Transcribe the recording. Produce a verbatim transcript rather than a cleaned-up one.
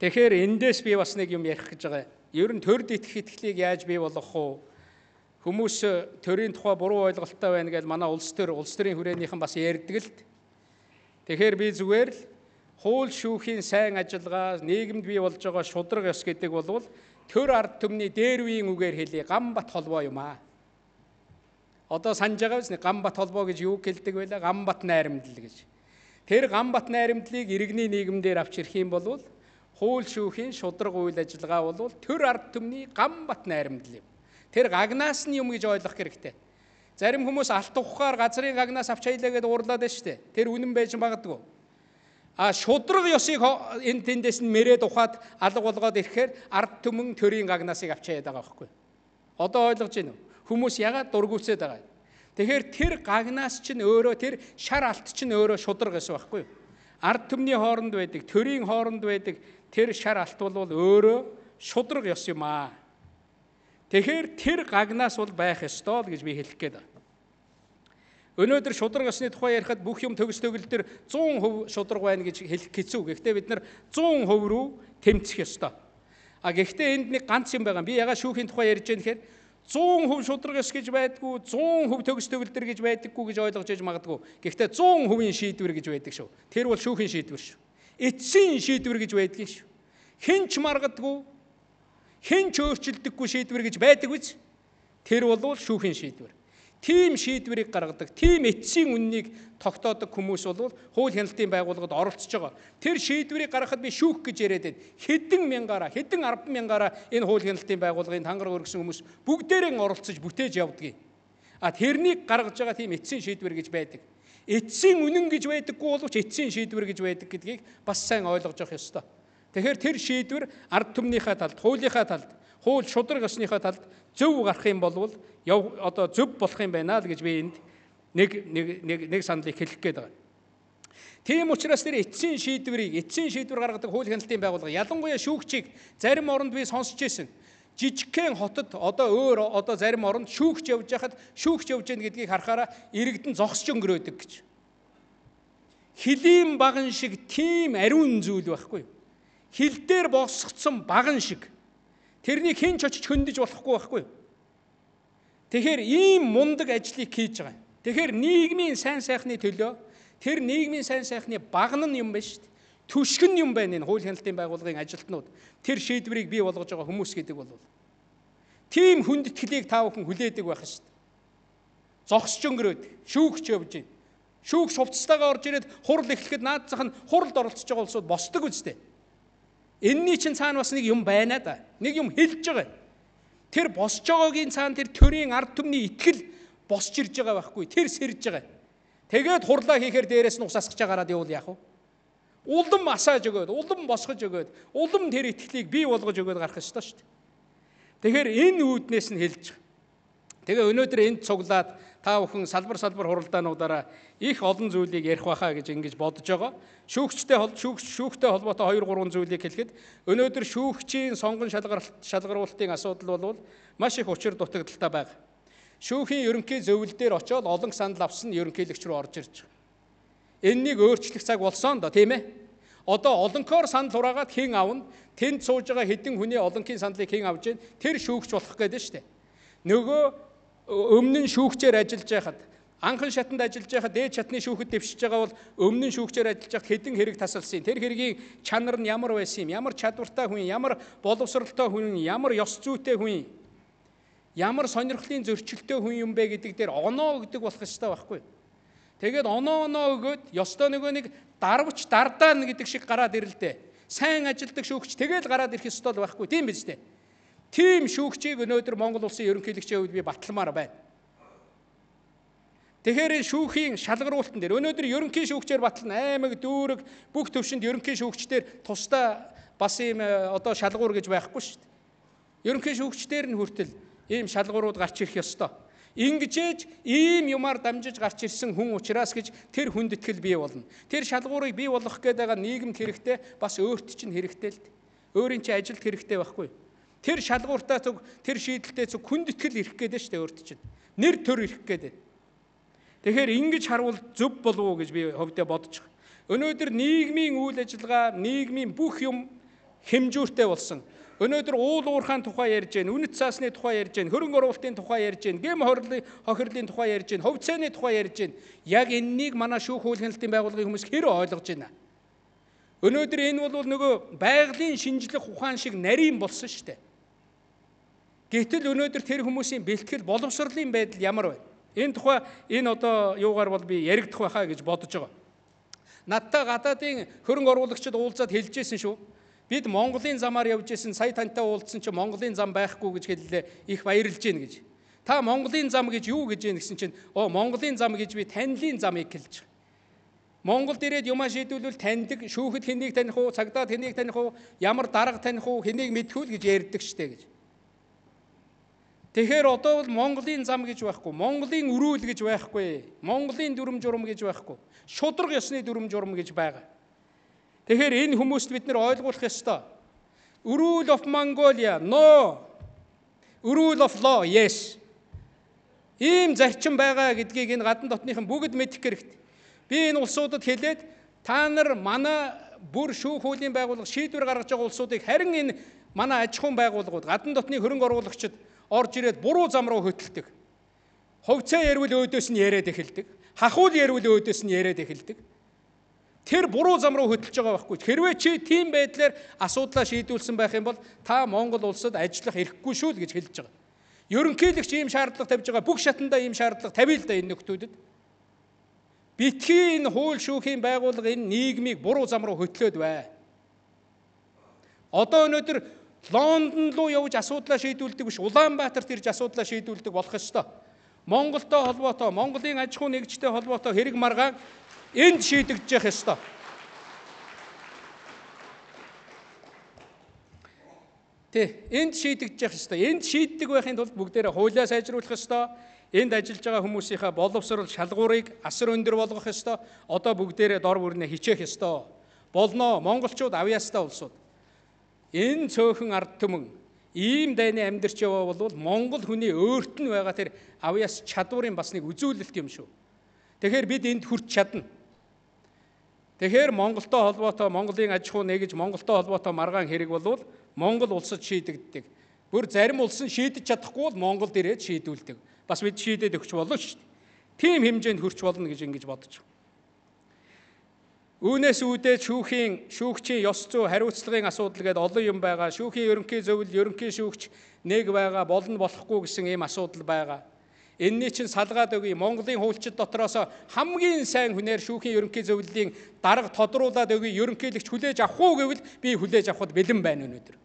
Тэгэхээр эндээс би бас нэг юм ярих гэж байгаа. Ер нь төрд итгэх итгэлийг яаж бий болгох вэ? Хүмүүс төрийн тухай буруу ойлголттой байна гэж манай улс төр улс төрийн хүрээнийхэн бас ярьдаг л. Тэгэхээр би зүгээр л хууль шүүхийн сайн ажиллагаа, нийгэмд бий болж байгаа шудраг ёс гэдэг бол төр ард түмний дээр үеийн үгээр хэлье, Гамбат холбоо юм аа. Одоо санаж байгаа биз? Гамбат холбоо гэж юу хэлдэг вэ? Гамбат найрамдал гэж. Тэр Гамбат найрамдлыг иргэний нийгэмдэр авч ирэх юм бол хууль шүүхийн шудраг үйл ажиллагаа бол төр ард түмний Гамбат найрамдал юм. Тэр гагнаас нь юм гэж ойлгох хэрэгтэй. Зарим хүмүүс алт ухаар газрын гагнаас авч хайлаа гэдээ уурлаад байна шүү дээ. Тэр үнэн байж магадгүй. А шудраг ёсыг энэ тэндээс нь мэрээд ухаад алга болгоод ирэхээр ард түмэн төрийн гагнаасыг авч хаяад байгаа байхгүй. Одоо ойлгож байна уу? Хүмүүс ягаад дургуутсаад байгаа юм? Тэгэхээр тэр гагнаас чинь өөрөө тэр шар алт чинь өөрөө шудраг ёс байхгүй. Ард түмний хооронд байдаг, төрийн хооронд байдаг тэр шар алт бол өөрөө шудраг ёс юм аа. Тэгэхээр тэр гагнаас бол байх ёстой л гэж би хэлэх гээд байна. Өнөөдөр шудраг ёсны тухай ярихад бүх юм төгс төгөл төр зуун хувь шудраг байна гэж хэлэх хэцүү. Гэхдээ бид нар зуун хувь руу тэмцэх ёстой. А гэхдээ энд нэг ганц юм байгаа. Би ягаад шүүхийн тухай ярьж байгаа нэхээр зуун хувь шудраг ёс гэж байдгүй, зуун хувь төгс төгөл төр гэж байдаггүй гэж ойлгож яж магадгүй. Гэхдээ зуун хувийн шийдвэр гэж байдаг шүү. Тэр бол шүүхийн шийдвэр шүү. Эцсийн шийдвэр гэж байдгийг шүү. Хэн ч маргадгүй, хэн ч өөрчилдөггүй шийдвэр гэж байдаг биз? Тэр бол шүүхийн шийдвэр. Тийм шийдвэрийг гаргадаг, тийм эцсийн үннийг тогтоодог хүмүүс бол хууль хяналтын байгууллагад оролцож байгаа. Тэр шийдвэрийг гаргахад би шүүх гэж яриад байна. Хэдэн мянгаараа, хэдэн арван мянгаараа энэ хууль хяналтын байгууллагын тангараг өргөсөн хүмүүс бүгдээрээ оролцож бүтээж явдгийг. А тэрнийг гаргаж байгаа тийм эцсийн шийдвэр гэж байдаг. Эцсийн үнэн гэж байдаггүй боловч эцсийн шийдвэр гэж байдаг гэдгийг бас сайн ойлгож явах ёстой. Тэгэхээр тэр шийдвэр ард түмнийхээ талд, хуулийнхаа талд, хууль шудраг ёсныхаа талд зөв гарах юм бол одоо зөв болох юм байна л гэж би энд нэг нэг нэг саналыг хэлэх гээд байгаа. Тийм учраас тэр эцсийн шийдвэрийг, эцсийн шийдвэр гаргадаг хууль хяналтын байгууллага, ялангуяа шүүгчийг зарим оронд би сонсч ирсэн. Жижигхэн хотод одоо өөр одоо зарим оронд шүүгч явж байхад шүүгч явж гэн гэдгийг харахаараа иргэдэн зогсож өнгөрөөдөг гэж. Хилийн баган шиг тийм ариун зүйл байхгүй юу? Хил дээр босгоцсон баган шиг. Тэрнийг хэн ч очиж хөндөж болохгүй байхгүй юу? Тэгэхээр ийм мундаг ажлыг хийж байгаа. Тэгэхээр нийгмийн сайн сайхны төлөө тэр нийгмийн сайн сайхны баган нь юм байна шүү дээ. Түшгэн юм байна энэ хууль хяналтын байгууллагын ажилтнууд. Тэр шийдвэрийг бий болгож байгаа хүмүүс гэдэг бол тийм хүндэтгэлийг та бүхэн хүлээдэг байх шүү дээ. Зогсож өнгөрөөд шүүгч явж байна. Шүүгч хувцастайгаа орж ирээд хурал эхлэхэд наад зах нь хуралд оролцож байгаа улсууд босдог үстэй. Энэний чинь цаана бас нэг юм байна да. Нэг юм хэлж байгаа. Тэр босч байгаагийн цаана тэр төрийн ард түмний итгэл босч ирж байгаа байхгүй. Тэр сэрж байгаа. Тэгээд хурлаа хийхээр дээрээс нь ус асгаж агараад явуул яах вэ? Улам асааж өгөөд, улам босгож өгөөд, улам тэр итгэлийг бий болгож өгөөд гарах ёстой шүү дээ. Тэгэхээр энэ үүднээс нь хэлж байгаа. Тэгээ өнөөдөр энд цуглаад та бүхэн салбар салбар хуралдаануудаараа их олон зүйлийг ярих байхаа гэж ингэж бодож байгаа. Шүүгчтэй шүүгч шүүхтэй холбоотой хоёр гурван зүйлийг хэлэхэд өнөөдөр шүүгчийн сонгон шалгаруулалтын асуудал бол маш их учир дутагдaltaй байна. Шүүхийн ерөнхий зөвлөл дээр очиод олон санал авсан ерөнхийлөгч рүү орж ирж байгаа. Энэнийг өөрчлөх цаг болсон доо тийм ээ. Одоо олонхоор санал хураагаад хэн авна? Тэнд сууж байгаа хэдэн хүний олонхын саналыг хэн авж гэн? Тэр шүүгч болох гэдэг шүү дээ. Нөгөө өмнө нь шүүгчээр ажиллаж байхад анхан шатанд ажиллаж байхад дээд шатны шүүхэд дэвшиж байгаа бол өмнө нь шүүгчээр ажиллаж байхад хэдэн хэрэг тасалсан. Тэр хэргийн чанар нь ямар байсан юм? Ямар чадвартай хүн, ямар боловсралтай хүн, ямар ёс зүйтэй хүн, ямар сонирхлын зөрчилтэй хүн юм бэ гэдэг дээр оноо өгдөг болох ёстой байхгүй. Тэгээд оноо оноо өгөөд ёстой нөгөө нэг дарвч дардаа гэдэг шиг гараад ирэлдэ. Сайн ажилдаг шүүгч тэгээд гараад ирэх ёстой л байхгүй. Тийм биз дээ. Тийм шүүгчийг өнөөдөр Монгол улсын ерөнхийлөгчийн хувьд би баталмаар байна. Тэгэхээр шүүхийн шалгаруулалтан дээр өнөөдөр ерөнхий шүүгчээр батална, аймаг, дүүрэг, бүх төвшөнд ерөнхий шүүгчдэр тусдаа бас ийм одоо шалгуур гэж байхгүй шүү дээ. Ерөнхий шүүгчдэр нь хүртэл ийм шалгуурууд гарч ирэх ёстой. Ингэжээж ийм юмар дамжиж гарч ирсэн хүн учраас гэж тэр хүндэтгэл бий болно. Тэр шалгуурыг бий болгох гээд байгаа нийгэмд хэрэгтэй, бас өөрт чинь хэрэгтэй л дээ. Өөрийн чинь ажилд хэрэгтэй байхгүй. Тэр шалгууртаа зүг, тэр шийдэлтэй зүг хүндэтгэл ирэх гээд шүү дээ өөрт чинь. Нэр төр ирэх гээд. Тэгэхээр ингэж харвал зөв болов уу гэж би хөвдөө бодож байгаа. Өнөөдөр нийгмийн үйл ажиллагаа, нийгмийн бүх юм хэмжүүртэй болсон. Өнөөдөр уул уурхайн тухай ярьж байна, үнэт цаасны тухай ярьж байна, хөрөнгө оруулалтын тухай ярьж байна, гэм хохирлын тухай ярьж байна, ховцооны тухай ярьж байна. Яг энэнийг манай шүүх хуулгын байгууллагын хүмүүс хэр ойлгож байна. Өнөөдөр энэ бол нөгөө байгалийн шинжлэх ухаан шиг нарийн болсон шүү дээ. Гэтэл өнөөдөр тэр хүмүүсийн бэлтгэл боловсролын байдал ямар байна? Энэ тухай энэ одоо юугаар бол би яригдах байхаа гэж бодож байгаа. Надтай гадаадын хөрөнгө оруулагчид уулзаад хэлжсэн шүү. Бид Монголын замаар явж исэн, сая тантай уулзсан чинь Монголын зам байхгүй гэж хэллээ, их баярлж гин гэж. Та Монголын зам гэж юу гэж юм гэсэн чинь оо Монголын зам гэж би танилын замыг хэлж байгаа. Монголд ирээд юмаа шийдвүүлвэл таньдаг, шүүхэд хэнийг таних уу, цагдаад хэнийг таних уу, ямар дарга таних уу, хэнийг мэдэх үү гэж ярьдаг штэ гэж. Тэгэхээр одоо бол Монголын зам гэж байхгүй, Монголын өрөөл гэж байхгүй, Монголын дүрм журм гэж байхгүй, шудраг ёсны дүрм журм гэж байгаа. Тэгэхээр энэ хүмүүст бид нэр ойлгуулах ёстой. Rule of Mongolia, no. Rule of law, yes. Ийм зарчим байгаа гэдгийг энэ гадна дотныхан бүгд мэдэх хэрэгтэй. Би энэ улсуудад хэлээд та нар манай бүр шүүх хуулийн байгууллага шийдвэр гаргаж байгаа улсуудыг харин энэ манай аж ахуйн байгууллагууд гадна дотны хөрөнгө оруулагчид орж ирээд буруу зам руу хөтэлдэг. Ховцоо ярил өөдөөс нь яриад эхэлдэг. Хахуул ярил өөдөөс нь яриад эхэлдэг. Тэр буруу зам руу хөтөлж байгаа байхгүй. Хэрвээ чи тийм байдлаар асуудлаа шийдүүлсэн байх юм бол та Монгол улсад ажиллах эрхгүй шүү л гэж хэлж байгаа. Ерөнхийлөгч ийм шаардлага тавьж байгаа. Бүх шатандаа ийм шаардлага тавья л да энэ нөхдүүдэд. Битгий энэ хууль шүүхийн байгууллага энэ нийгмийг буруу зам руу хөтлөөд бай. Одоо өнөөдөр Лондон руу явж асуудлаа шийдүүлдэг биш, Улаанбаатарт ирж асуудлаа шийдүүлдэг болох ёстой. Монголтой холбоотой, Монголын аж ахуй нэгжтэй холбоотой хэрэг маргаан энд шийдэгдэж явах ёстой. Тэ, энд шийдэгдэж явах ёстой. Энд шийддэг байхын тулд бүгдээрээ хуулиа сайжруулах ёстой. Энд ажиллаж байгаа хүмүүсийнхээ боловсрол шалгуурыг асар өндөр болгох ёстой. Одоо бүгдээрээ дор бүрнээ хичээх ёстой. Болно монголчууд авьяастай улсууд. Энэ цөөхөн ард түмэн ийм дайны амьдарч яваа бол Монгол хүний өөрт нь байгаа тэр авьяас чадварын бас нэг үзүүлэлт юм шүү. Тэгэхээр бид энд хүрч чадна. Тэгэхээр Монголтой холбоотой, Монголын аж ахуй нэгж Монголтой холбоотой маргаан хэрэг бол Монгол улсад шийдэгддэг. Бүр зарим улс нь шийдэж чадахгүй бол Монголд ирээд шийдүүлдэг. Бас бид шийдээд өгч болно шүү дээ. Тийм хэмжээнд хүрч болно гэж ингэж бодож байна. Үүнээс үүдээ шүүхийн, шүүгчийн ёс зүй, хариуцлагын асуудал гэдэг олон юм байгаа. Шүүхийн ерөнхий зөвлөл, ерөнхий шүүгч нэг байгаа, болно болохгүй гэсэн ийм асуудал байгаа. Энэний чинь салгаад өгье. Монголын хуульчид дотроос хамгийн сайн хүнээр шүүхийн ерөнхий зөвлөлийн дарга тодруулаад өгье. Ерөнхийлөгч хүлээж авах уу гэвэл би хүлээж авахд бэлэн байна өнөөдөр.